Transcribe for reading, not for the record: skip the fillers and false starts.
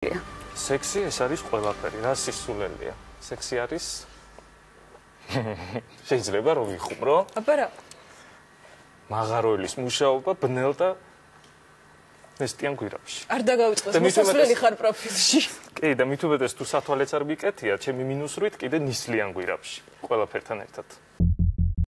სექსი ეს არის ყველაფერი, რა სისულელია. სექსი არის შეიძლება რომ ვიხუმრო? აბა რა? მაღაროელის მუშაობა ბნელ და ნესტიან გვირაბში. არ დაგავიწყდეს, მოსასვლელი ხარ პროფილში. კი, და მით უმეტეს თუ სათვალეც არ მიკეთია, ჩემი მინუსრით კიდე ნისლიან გვირაბში, ყველაფერთან ერთად.